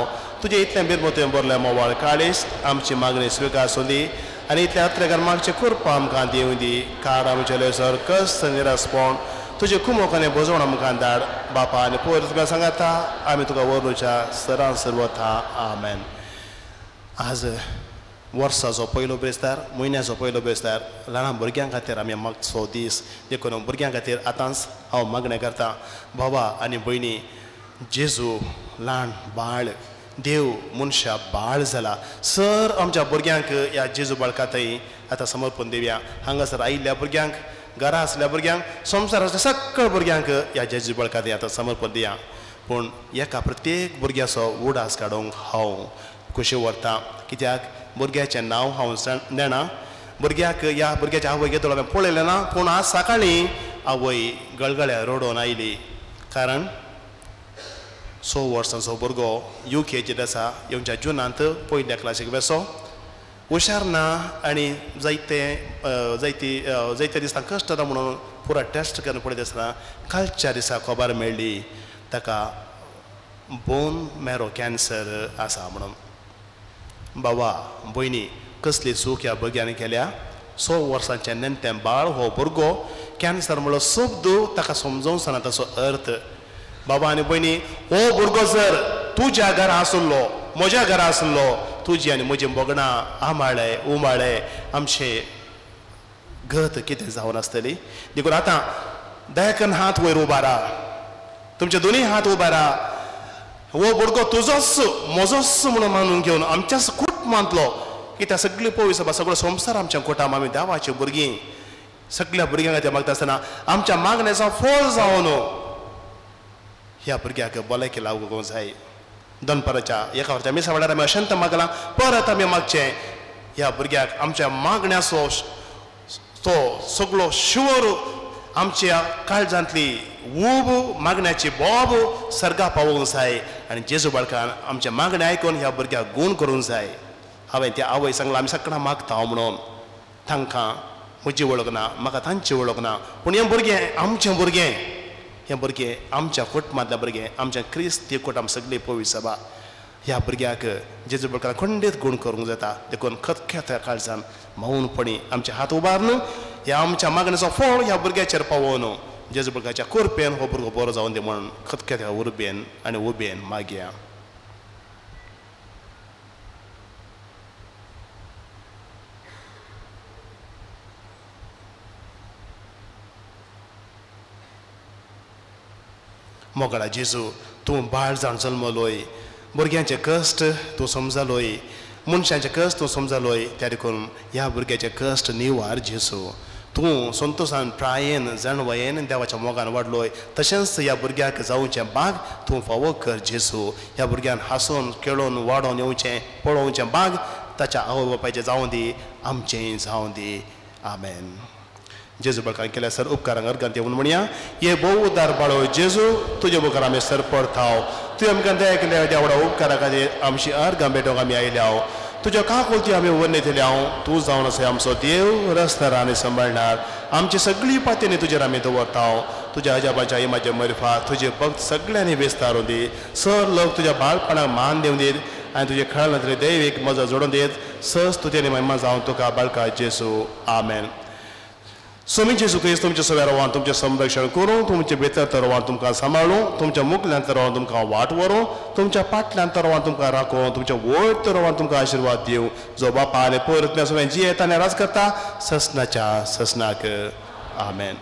तुजें इतलें बिरमोतें भरलें मोवाळ काळीस आमची मागणी स्विकार सोदी आनी इतल्या अत्रेकार मागचें कृपा आमकां दिवं दी. काड आमचें सर कस निरासपण तुजें कुमोक आनी भोजवण आमकां धाड. बापा आनी पोर तुका सांगता आमी तुका व्हरूच्या सरान सर वता. आमेन. आज वर्साचो पयलो बेस्तार, म्हयन्याचो पयलो बेस्तार ल्हान भुरग्यां खातीर आमी मागचो दीस. देखून भुरग्यां खातीर आतांच हांव मागणें करता. बाबा आनी भयणी जेजू ल्हान बाळ देव मनशा बाळ जाला. सर आमच्या भुरग्यांक ह्या जेजू बाळका थंय आतां समर्पण दिवया. हांगासर आयिल्ल्या भुरग्यांक, घरा आसल्या भुरग्यांक, संवसार आसल्या सगळ्या भुरग्यांक ह्या जेजू बाळका थंय आतां समर्पण दिया. पूण एका प्रत्येक भुरग्याचो उडास काडूंक हांव खुशी व्हरता. कित्याक भुरग्याचें नांव हांव नेणा. भुरग्याक ह्या भुरग्याच्या आवय घेतलो हांवें पळयलें ना, पूण आज सकाळीं आवय गळगळ्या रडोवन आयली. कारण 6 वर्सांचो भुरगो UKG आसा, येवच्या जुनांत पयल्या क्लासीक बेसो, हुशार ना आनी जायते जायती जायते दिसा कश्ट जाता म्हणून पुरा टेस्ट करून पळयता आसतना कालच्या दिसा खबर मेळ्ळी ताका बोन मॅरो कॅन्सर आसा म्हणून. बाबा भयणी कसली चूक ह्या भुरग्यांनी केल्या. 6 वर्सांचें नेणटें बाळ हो भुरगो कॅन्सर म्हणलो शब्द ताका समजोवंक ना ताचो अर्थ. बाबा आनी भयणी हो भुरगो जर तुज्या घरा आसलो, म्हज्या घरा आसलो, तुजी आनी म्हजी भोगणां आंबाळे उमाळे आमचे गत कितें जावन आसतली. देखून आतां दयाकन हात वयर उबारा, तुमचे दोनूय हात उबारा. हो भुरगो तुजोच म्हजोच म्हणून मानून घेवन आमच्याच कुटुंबांतलो कित्याक सगळी पळय सभा सगळो संवसार आमच्या कोटाम आमी देवाची भुरगीं सगळ्या भुरग्यांक खातीर मागता आसतना आमच्या मागण्याचो फळ जावन ह्या भुरग्याक भलायकी लागूंक जाय. दनपाराच्या एका वरच्या मिसा वेळार आमी अशंत मागलां परत आमी मागचें ह्या भुरग्याक आमच्या मागण्याचो तो सगळो शिवर आमच्या काळजांतली ऊब मागण्याची बोब सर्गा पावोवंक जाय आनी जेजू बाळकान आमच्या मागणें आयकून ह्या भुरग्याक गूण करूंक जाय. हांवें त्या आवय सांगलां आमी सगळां मागता म्हणून तांकां म्हजी वळख ना म्हाका तांची वळख ना पूण हें भुरगें आमचें भुरगें हें भुरगें आमच्या कुटुंबांतलें भुरगें आमच्या क्रिस्ती कुटुंब सगळी पवी सभा ह्या भुरग्याक जेजू बाळकान खंडीत गूण करूंक जाता. देखून खतखत्या काळजान मौनपणी आमचे हात उबारून ह्या आमच्या मागणेचो फळ ह्या भुरग्याचेर पावोवन जेजू बाळकाच्या कृपेन हो भुरगो बरो जावन दी म्हणून खतखत्या उर्बेन आनी उबेन मागया. मोगळा जेजू तूं बाळ जावन जल्मलोय भुरग्यांचे कश्ट तूं समजालोय मनशांचे कश्ट तूं समजालोय त्या देखून ह्या भुरग्याचे कश्ट निवार जेजू. तूं संतोशान प्रायेन जाणवयेन देवाच्या मोगान वाडलोय तशेंच ह्या भुरग्याक जावचें बाग तूं फावो कर जेजू. ह्या भुरग्यान हांसून खेळोवन वाडोवन येवचें पळोवचें बाग ताच्या आवय बापायचें जावं दी आमचें जावं दी. आमेन. जेजू बाळकान केल्या सर उपकारांक अर्गांत येवन म्हणया हे भोव उदार बाळो जेजू तुजे मुखार आमी सर परताव तुवें आमकां दया केल्या देवडा उपकारा खातीर आमची अर्गां भेटोवंक आमी आयल्या तुज्या काकुळती आमी वर्णयतले तूं जावन आसा आमचो देव रस्त्यार आनी सांबाळणार आमची सगळी पातयेनी तुजेर आमी दवरताव तुज्या अजाबाच्या इमाजे मरिफा तुजे भक्त सगळ्यांनी विस्तारून दी सर लोक तुज्या बाळपणाक मान दिवन दीत आनी तुजे खेळांतले दैवीक मजा जोडून दीत सहज तुजें महिमा जावन तुका बाळका जेजू. आमेन. स्वामी जेजू क्रिस्त तुमच्या सव्या रोवान तुमचें संरक्षण करूं तुमचे भितर तरवान तुमकां सांबाळूं तुमच्या मुखल्यान तरवान तुमकां वाट व्हरूं तुमच्या फाटल्यान तरवान तुमकां राखूं तुमच्या वयर तरवान तुमकां आशिर्वाद दिवं जो बापा आनी परत सगळें जियेता आनी राज करता ससनाच्या ससनाक. आमेन.